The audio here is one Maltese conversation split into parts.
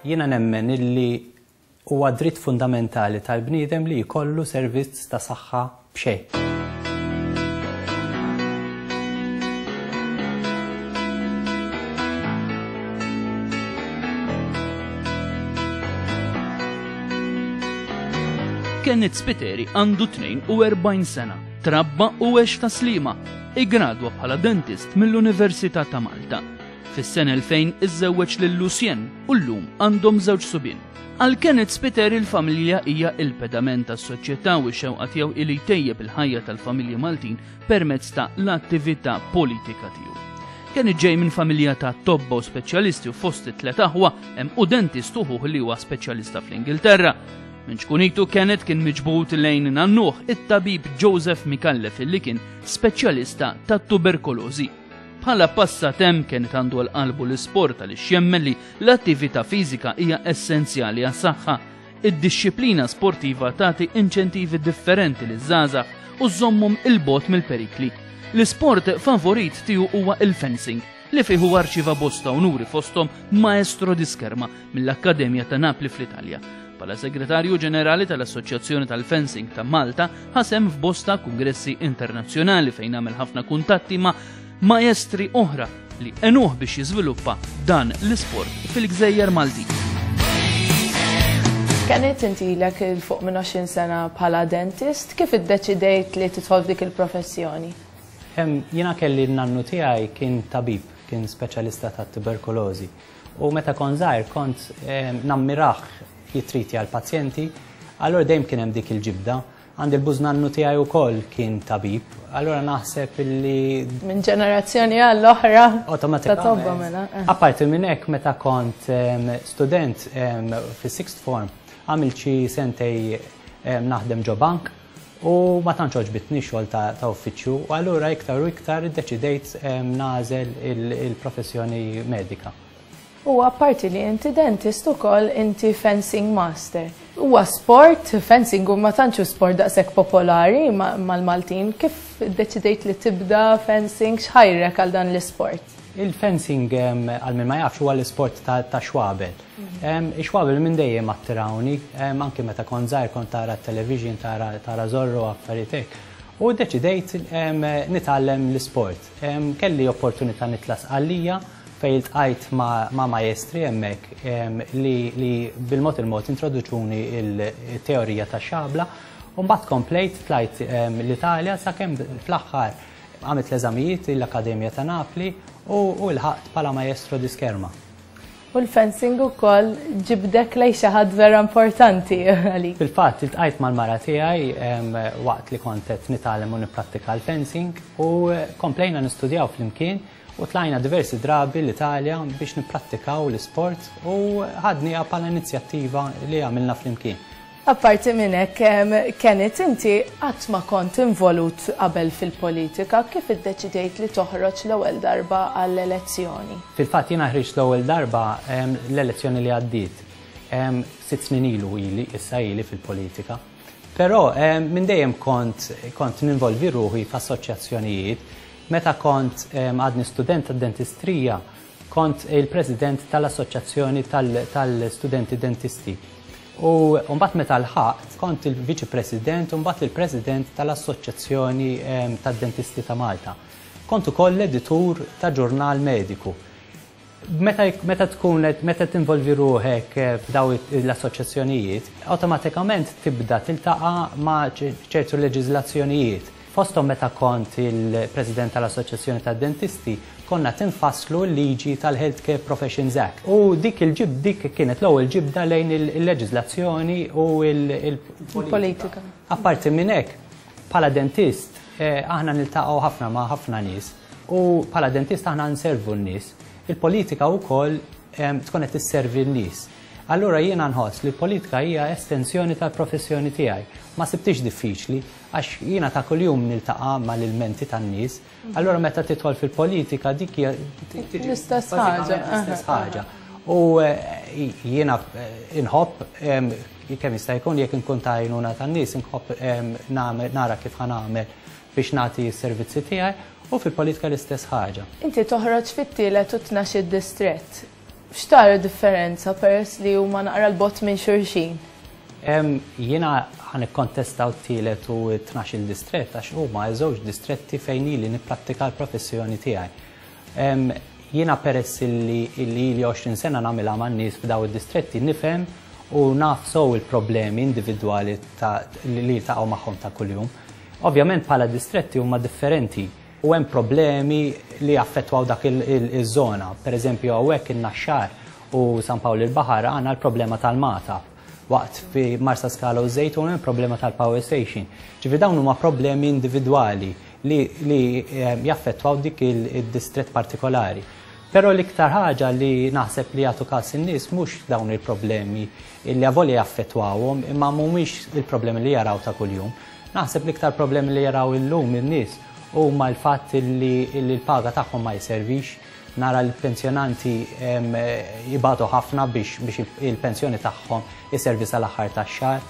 Jiena nemmen illi Huwa dritt fundamentali tal-bniedem li jkollu servizz ta' saħħa b'xejn. Kenneth Spiteri għandu 42 sena, trabba u għex ta' Sliema, iggradwa bħala dentist mill-Università ta' Malta. Fis-sena 2000 iżżewweġ lil Lucien u llum għandhom żewġ subien. Għal Kenneth Spiteri l-familja hija il-pedament tas-soċjetà u x-xewqa tiegħu hi li jtejjeb il-ħajja tal-familji Maltin permezz ta' l-attività politika tiegħu. Kenneth ġej minn familja ta' tobba u speċjalisti u fost it-tlet aħwa hemm u dentist u ħuh li huwa speċjalista fl-Ingilterra. Minn ċkunitu Kenneth kien miġbud lejn nannuh it-tabib Joseph Micallef li kien speċjalista tat-tuberkolożi. Bħala passatemp Kenneth għandu għal qalbu l-isport għaliex jemmen li l-attività fiżika hija essenzjali għas-saħħa. Id-dixxiplina sportiva tagħti inċentivi differenti liż-żgħażagħ u żżommhom 'il bogħod mill-perikli. L-isport favorit tiegħu huwa l-fencing, li fih huwa rċieva bosta unuri fosthom Maestro di Scherma mill-Akkademja ta' Napli fl-Italja. Bħala Segretarju Ġenerali tal-Assoċjazzjoni tal-Fencing ta' Malta, ħa sehem f'bosta kungressi internazzjonali fejn għamel ħafna kuntatti ma' maestri oħra li għenuh biex jiżviluppa dan l-isport fil-gżejjer Maltin. Kenneth, inti ilek 'il fuq minn 20 sena bħala dentist, kif iddeċidejt li tidħol f'dik il-professjoni? Jiena kelli n-nannu tiegħi kien tabib, kien speċjalista tat-tuberkulożi. U meta kont żgħir kont nammirah jitritja l-pazjenti, allura dejjem kien hemm dik il-ġibda. Għandi l-bużnannu tiegħi wkoll kien tabib, allura naħseb illi. Minn ġenerazzjoni għall-oħra. Awtomatikament. Ta' tobba mela. Apparti minn hekk meta kont student fis-sixth form, għamilt xi sentej naħdem ġo bank u ma tantx għoġbitni x-xogħol ta' uffiċċju u allura iktar u iktar iddeċidejt nagħżel il-professjoni medika. U apparti li inti dentist ukoll inti fencing master. Huwa sport, fencing ma tantx hu sport daqshekk popolari mal-Maltin, kif iddeċidejt li tibda fencing, x'ħajrek għal dan l-isport? Il-fencing għal min ma jafx huwa l-isport tax-xwabel. Ix-xwabel minn dejjem attirawni, anki meta kont żgħir kont tara t-television, tara Zorro u affarijiet hekk. U ddeċidejt nitgħallem l-isport. Kelli opportunità nitla' Sqallija fejn iltqajt ma' maestri hemmhekk li bil-mod il-mod introduċuni l-teorija tax-xabla. U mbagħad komplejt tlajt l-Italja sakemm fl-aħħar għamilt l-eżamijiet l-Akkademja ta' Napli u lħaqt bħala maestro di scherma. U l-fencing ukoll ġibdek lejn xi ħadd vera importanti għalik. Fil-fatt iltqajt mal-mara tiegħi waqt li kont qed nitgħallem u nipprattika l-fencing u komplejna nistudjaw flimkien u tlajna diversi drabi l-Italja biex nipprattikaw l-isport u ħadniha bħala inizjattiva li għamilna flimkien. Apparti minn hekk, Kenneth, inti qatt ma kont involut qabel fil-politika, kif iddeċidejt li toħroġ l-ewwel darba għall-elezzjoni? Fil-fatt jiena ħriġt l-ewwel darba l-elezzjoni li għaddiet. Sitt snin ilu ili, issa ili fil-politika. Però minn dejjem kont kont ninvolvi ruħi f'assoċjazzjonijiet. Meta kont għadni student tad-dentistrija, Kont il-President tal-Assoċjazzjoni tal-Studenti Dentisti. U mbagħad meta lħaqt, kont il-Viċi President u mbagħad il-President tal-Assoċjazzjoni tad-Dentisti ta' Malta. Kont ukoll l-editur ta' ġurnal mediku. Meta meta tkun meta tinvolvi ruħek f'daw l-assoċjazzjonijiet, awtomatikament tibda tiltaqa' ma' ċertu leġiżlazzjonijiet. Fosthom meta kont il-President tal-Assoċjazzjoni tad-Dentisti, konna qed infasslu l-liġi tal-Healthcare Professions Act. U dik il-ġib dik kienet l-ewwel ġibda lejn il-leġiżlazzjoni u l-politika. Apparti minn hekk, bħala dentist, aħna niltaqgħu ħafna ma' ħafna nies u bħala dentist aħna nservu n-nies. Il-politika wkoll tkun qed isservi n-nies. Allura jiena nħoss li l-politika hija estensjoni tal-professjoni tiegħi. Ma sibtix diffiċli għax jiena ta' kuljum niltaqa' mal-ilmenti tan-nies. Allura meta tidħol fil-politika dik hija l-istess ħaġa. L-istess ħaġa. U eh, jiena eh, inħobb kemm jista' jkun jekk inkun ta' għajnuna tan-nies inħobb nara kif ħa nagħmel biex nagħti s-servizzi tiegħi u fil-politika l-istess ħaġa. Inti toħroġ fit-tielet u 12 distrett. X'tara differenza peress li huma naqra 'l bogħod minn xulxin? Jiena ħa nikkontesta t-tielet u t-tnax-il distrett għax huma żewġ distretti fejn ili nipprattika l-professjoni tiegħi. Jiena peress illi ili 20 sena nagħmilha man-nies f'daw id-distretti nifhem u naf sew il-problemi individwali li jiltaqgħu magħhom ta' kuljum. Ovvjament bħala distretti huma differenti. U hemm problemi li jaffettwaw dak iż-żona. Per eżempju hawnhekk in-Naxxar u San Pawl il-Baħar għandna l-problema tal-Magħtab. Waqt fi Marsaskala u Żejtun hemm problema tal-power station. Ġifieri dawn huma problemi individwali li, li eh, jaffettwaw dik id-distrett partikolari. Però l-iktar ħaġa li naħseb li jagħtu każ in-nies mhux dawn il-problemi li avolja jaffettwawhom imma mhumiex il-problemi li jaraw ta' kuljum. Naħseb l-iktar problemi li jaraw illum in-nies huma l-fatt li l-paga tagħhom ma jservix. Nara l-pensjonanti jibatu ħafna biex il-pensjoni tagħhom iservi sal-aħħar tax-xahar.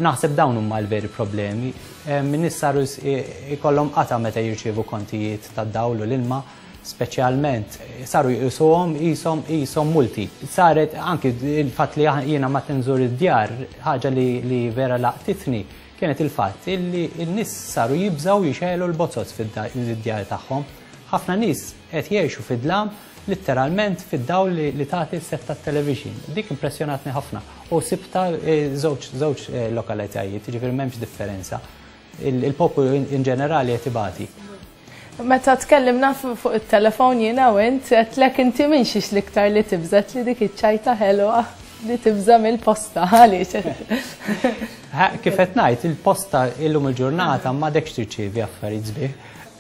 Naħseb dawn huma l-veri problemi. In-nies saru jkollhom qatgħa meta jirċievu kontijiet tad-dawl u l-ilma, speċjalment saru jqisuhom qishom qishom multi. Saret anki il-fatt li jiena ma tinżur id-djar, ħaġa li vera laqtitni, kienet il-fatt illi n-nies saru jibżgħu jixegħlu l-bozoz fid-djar tagħhom. Ħafna nies qed jgħixu fid-dlam litteralment fid-dawl li tagħti s-set tat-television. Dik impressjonatni ħafna u sibtha żewġ żewġ lokalitajiet, jiġifieri m'hemmx differenza. Il-poplu in ġenerali qed ibati. Meta tkellimna fuq it-telefon jiena u int, għedtlek inti minn xiex l-iktar li tibża' li dik iċ-ċajta ħelwa li tibża' mill-posta għaliex. Kif qed ngħid, il-posta illum il-ġurnata m'għadekx tirċievi affarijiet sbieħ.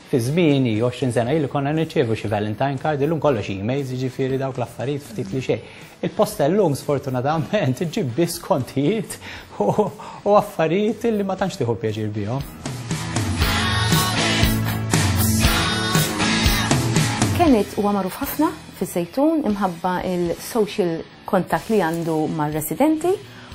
Fi żmieni 20 sena ilu konna nirċievu xi Valentine card, illum kollox emails, jiġifieri dawk l-affarijiet ftit li xejn. Il-posta llum sfortunatament iġġib biss kontijiet u affarijiet li ma tantx tieħu pjaċir bihom. Kenneth huwa magħruf ħafna fiż-Żejtun imħabba il-social contact li għandu mar-residenti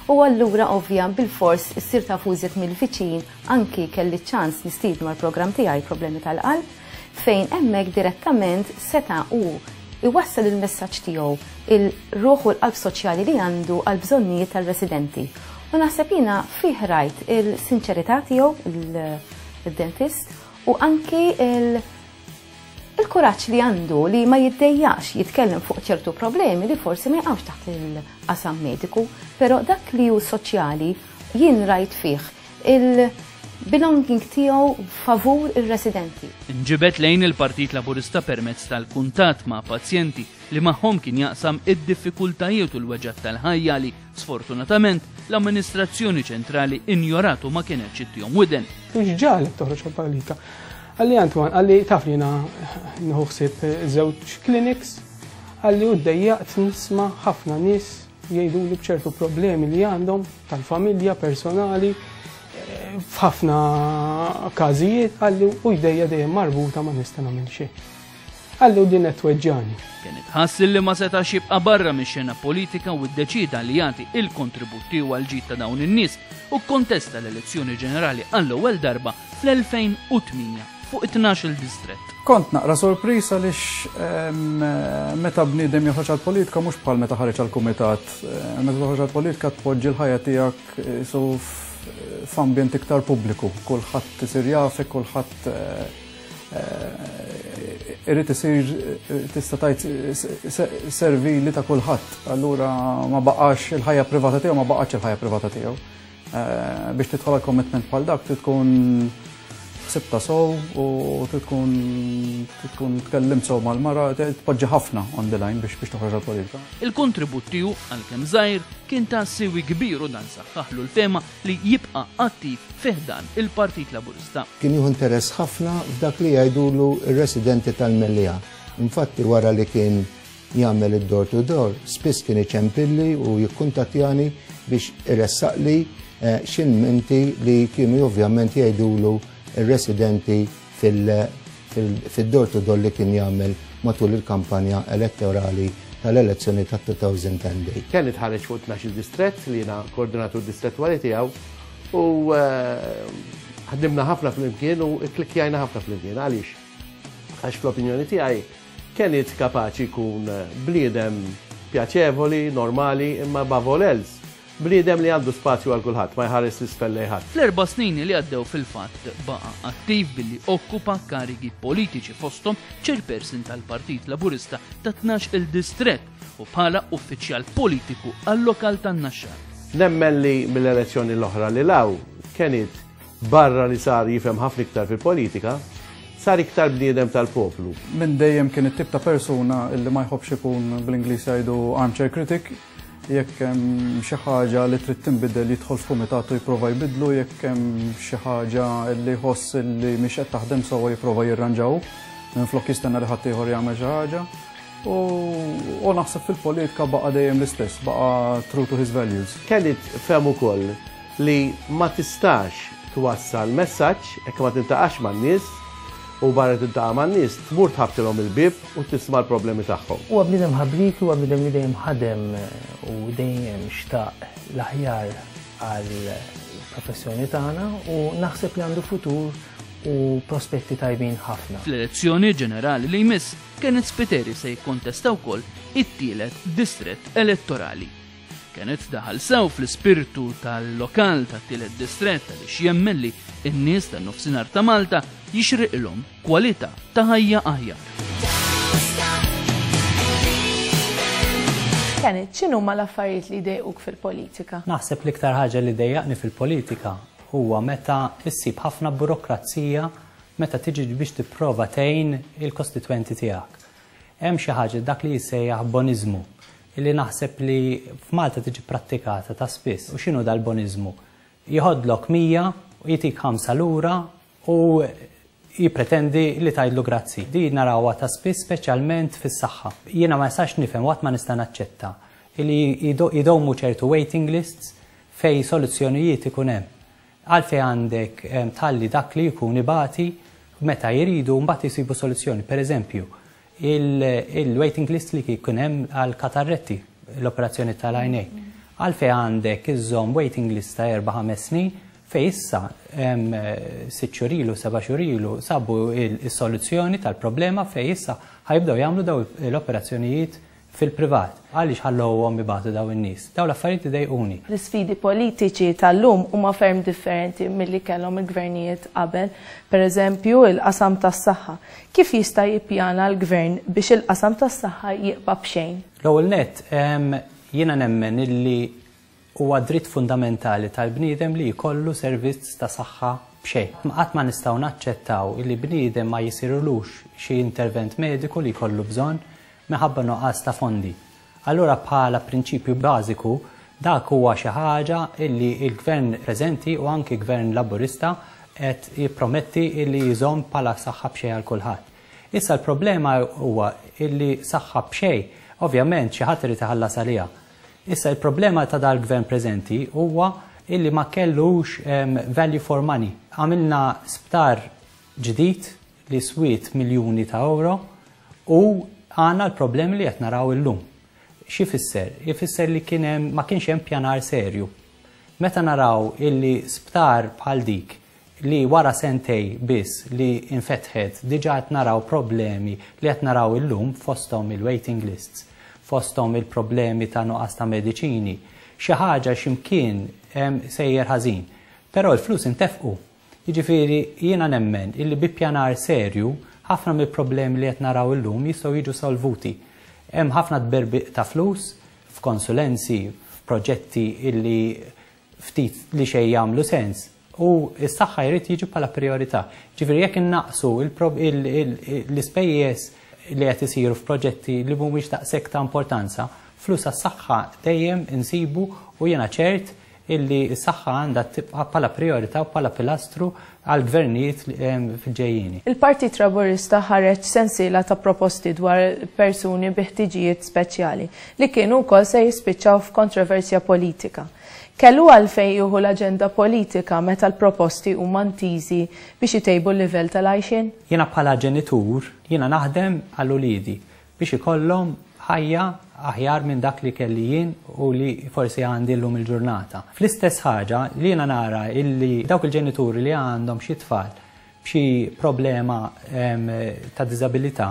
u allura ovvja bilfors issir tafu iżjed mill-viċin anki kelli ċ-ċans nistiednu għall-programm tiegħi Problemi tal-Qalb fejn hemmhekk direttament seta' hu jwassal il-messaġġ tiegħu, il-ruħ u l-qalb soċjali li għandu għall-bżonnijiet tar-residenti. U naħseb jiena fih rajt il-sinċerità tiegħu, il-dentist, u anki il-kuraġġ li għandu li ma jiddejjaqx jitkellem fuq ċertu problemi li forsi ma jaqgħux taħt il-qasam mediku, però dak li hu soċjali jien rajt fih il-belonging tiegħu favur ir-residenti. Inġibed lejn il-Partit Laburista permezz tal-kuntatt ma' pazjenti li magħhom kien jaqsam id-diffikultajiet u l-weġgħat tal-ħajja li, sfortunatament, l-amministrazzjoni ċentrali injorat u ma kinetx ittihom widen. X'ġagħlek toħroġ għall-politika? Qalli Antoine, qalli taf li jiena nieħu ħsieb żewġ clinics, qalli u ddejjaqt nisma' ħafna nies jgħiduli b'ċertu problemi li għandhom tal-familja, personali, f'ħafna każijiet qalli u jdejja dejjem marbuta ma nista' nagħmel xejn. Qalli u din qed tweġġani. Kien itħass li ma setax jibqa' barra mix-xena politika u ddeċieda li jagħti il-kontribut tiegħu għall-ġid ta' dawn in-nies u kkontesta l-elezzjoni ġenerali għall-ewwel darba fl-2008 fuq it-tnax-il distrett. Kont naqra sorpriż għaliex meta bniedem joħroġ għall-politika mhux bħal meta ħareġ għall-kumitat. Meta toħroġ għall-politika tpoġġi l-ħajja tiegħek qisu f'ambjent iktar pubbliku. Kulħadd isir jafek, kulħadd irid isir tista' tgħid servili ta' kulħadd. Allura ma baqax il-ħajja privata tiegħu ma baqgħetx il-ħajja privata tiegħu. Eh, biex tidħol għal commitment bħal dak trid tkun ħsibta sow u trid tkun tkun tkellimt sew mal-mara, tpoġġi ħafna on the line biex biex toħroġ għall-politika. Il-kontribut tiegħu għalkemm żgħir kien ta' siwi kbir u dan saħħaħlu l-fehma li jibqa' attiv fi ħdan il-Partit Laburista. Kien jieħu interess ħafna f'dak li jgħidulu r-residenti tal-Mellieħa. Infatti wara li kien. jagħmel id-door to door, spiss kien iċempilli u jikkuntattjani biex iressaqli xi lmenti li kienu ovvjament jgħidulu r-residenti fil-door to door li kien jagħmel matul il-kampanja elettorali tal-elezzjoni tat-2010. Kenneth ħareġ fuq 12-il distrett li jiena koordinatur distrettwali tiegħu u ħdimna ħafna flimkien u kklikkjajna ħafna flimkien. Għaliex? Għax fl-opinjoni tiegħi Kenneth kapaċi jkun bniedem pjaċevoli, normali, imma above all else, bniedem li għandu spazju għal kulħadd, ma jħares 'l isfel lejn ħadd. Fl-erba' snin li għaddew fil-fatt baqa' attiv billi okkupa karigi politiċi fosthom chairperson tal-Partit Laburista ta' 12-il distrett u bħala uffiċjal politiku għal-lokal tan-Naxxar. Nemmen li mill-elezzjoni l-oħra lil hawn, Kenneth barra li sar jifhem ħafna iktar fil-politika, sar iktar bniedem tal-poplu. Minn dejjem kien it-tip ta' persuna illi ma jħobbx ikun bl-Ingliż jgħidu armchair critic, jekk hemm xi ħaġa li trid tinbidel jidħol f'kumitat u jipprova jbiddlu, jekk hemm xi ħaġa li jħoss li mhix qed taħdem sewwa jipprova jirranġa hu, minflok jistenna li ħaddieħor jagħmel xi ħaġa. U, u naħseb fil-politika baqa' dejjem l-istess, baqa' true to his values. Kenneth fehem ukoll li ma tistax twassal messaġġ jekk ma tiltaqax man-nies u barra tiltaqa' man-nies tmur tħabbtilhom il-bieb u tisma' l-problemi tagħhom. Huwa bniedem ħabrieki, huwa bniedem li dejjem ħadem u dejjem xtaq l-aħjar għall-professjoni tagħna u naħseb li għandu futur u prospetti tajbin ħafna. Fl-elezzjoni ġenerali li jmiss, Kenneth Spiteri se jikkontesta wkoll it-tielet distrett elettorali. Kenneth daħal sew fl-ispirtu tal-lokal tat-tielet distrett għaliex jemmen li n-nies tan-nofsinhar ta' Malta jixriqilhom kwalità ta' ħajja aħjar. Kenneth, x'inhuma l-affarijiet li jdejquk fil-politika? Naħseb l-iktar ħaġa li dejjaqni fil-politika huwa meta ssib ħafna burokrazija meta tiġi biex tipprova tgħin il-kostitwenti tiegħek. Hemm xi ħaġa dak li jissejjaħ boniżmu li naħseb li f'Malta tiġi prattikata ta' spiss. U x'inhu dal-boniżmu? Jieħodlok 100 u jitik 5 lura u jippretendi li tgħidlu grazzi. Din narawha ta' spiss speċjalment fis-saħħa. Jiena ma nistax nifhem u qatt ma nista' naċċetta li jdewmu ċertu waiting lists fejn soluzzjonijiet ikun hemm. Għalfejn għandek tħalli dak li jkun ibati meta jridu mbagħad isibu soluzzjoni. Per eżempju, il-waiting list li kien hemm għal katarretti, l-operazzjoni tal-għajnejn. Għalfejn għandek iżżomm waiting list ta' 4-5 snin fejn issa 6 xhur ilu, 7 xhur ilu sabu is-soluzzjoni tal-problema fejn issa ħa jibdew jagħmlu daw l-operazzjonijiet fil-privat. Għaliex ħallowhom ibatu dawn in-nies? Dawn l-affarijiet idejquni. L-isfidi politiċi tal-lum huma ferm differenti milli kellhom il-gvernijiet qabel. Per eżempju, il-qasam tas-saħħa. Kif jista' jippjana l-gvern biex il-qasam tas-saħħa jibqa' b'xejn? L-ewwel nett, jiena nemmen illi Huwa dritt fundamentali tal-bniedem li jkollu servizz ta' saħħa b'xejn. Qatt ma nistgħu naċċettaw li bniedem ma jisirlux xi intervent mediku li jkollu bżonn minħabba nuqqas ta' fondi. Allura bħala prinċipju bażiku dak huwa xi ħaġa li l-Gvern preżenti u anki Gvern Laburista qed jipprometti li jżomm bħala saħħa b'xejn għal kulħadd. Issa l-problema huwa li saħħa b'xejn ovvjament xi ħadd irid iħallas għaliha. Issa il-problema ta' dal-gvern preżenti huwa illi ma kellux value for money. Għamilna sptar ġdid li swiet miljuni ta' euro u għandna l-problemi li qed naraw illum. X'ifisser? Ifisser li kien hemm ma kienx hemm pjanar serju. Meta naraw illi sptar bħal dik li wara sentej biss li infetħet diġà qed naraw problemi li qed naraw illum fosthom il-waiting lists, fosthom il-problemi ta' nuqqas ta' mediċini. Xi ħaġa xi mkien sejjer ħażin. Però l-flus intefqu. Jiġifieri jiena nemmen illi bi ppjanar serju ħafna mill-problemi li qed naraw illum jistgħu jiġu solvuti. Hemm ħafna tberbiq ta' flus f'konsulenzi, f'proġetti illi ftit li xejn jagħmlu sens u s-saħħa jrid jiġi bħala prijorità. Ġifieri jekk innaqqsu l-ispejjeż li qed isiru f'proġetti li mhumiex daqshekk ta' importanza, flus għas-saħħa dejjem insibu u jiena ċert illi s-saħħa għandha tibqa' bħala prijorità u bħala pilastru għall-gvernijiet fil-ġejjieni. Il-Partit Laburista ħareġ sensiela ta' proposti dwar persuni bi ħtiġijiet speċjali li kienu wkoll se jispiċċaw f'kontroversja politika. Kellu għalfejn jieħu l-aġenda politika meta l-proposti huma ntiżi biex itejbu l-livell tal-għajxien? Jiena bħala ġenitur, jiena naħdem għal uliedi biex ikollhom ħajja aħjar minn dak li kelli jien u li forsi għandi llum il-ġurnata. Fl-istess ħaġa li jiena nara illi dawk il-ġenituri li għandhom xi tfal b'xi problema ta' diżabilità,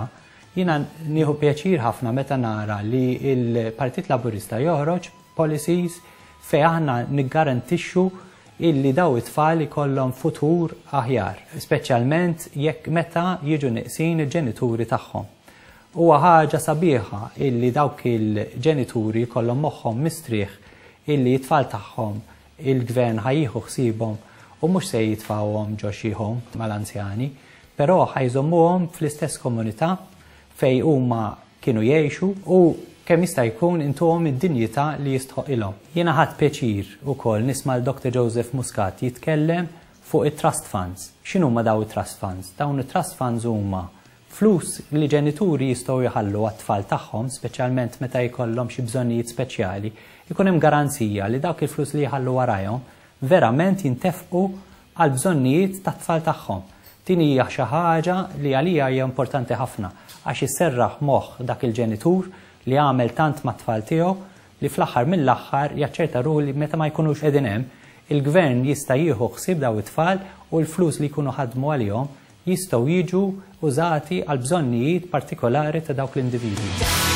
jiena nieħu pjaċir ħafna meta nara li l-Partit Laburista joħroġ policies fejn aħna niggarantixxu illi daw it-tfal ikollhom futur aħjar, speċjalment jekk meta jiġu neqsin il-ġenituri tagħhom. Huwa ħaġa sabiħa illi dawk il-ġenituri jkollhom moħħhom mistrieħ illi t-tfal tagħhom il-gvern ħa jieħu ħsiebhom u mhux se jitfgħuhom ġo xi home mal-anzjani, però ħa jżommuhom fl-istess komunità fejn huma kienu jgħixu u kemm jista' jkun intuhom id-dinjità li jistħoqqilhom. Jiena ħadt pjaċir ukoll nisma' 'l Doctor Joseph Muscat jitkellem fuq it-trust funds. X'inhuma dawn it-trust funds? Dawn it-trust funds huma flus li ġenituri jistgħu jħallu għat-tfal tagħhom, speċjalment meta jkollhom xi bżonnijiet speċjali, ikun hemm garanzija li dawk il-flus li jħallu warajhom verament jintefqu għall-bżonnijiet tat-tfal tagħhom. Din hija xi ħaġa li għalija hija importanti ħafna għax isserraħ moħħ dak il-ġenitur li għamel tant mat-tfal tiegħu li fl-aħħar mill-aħħar jaċċerta ruħu li meta ma jkunux qegħdin hemm, il-Gvern jista' jieħu ħsieb dawn it-tfal u l-flus li jkunu ħadmu għalihom jistgħu jiġu użati għall-bżonnijiet partikolari ta' dawk l-individwi.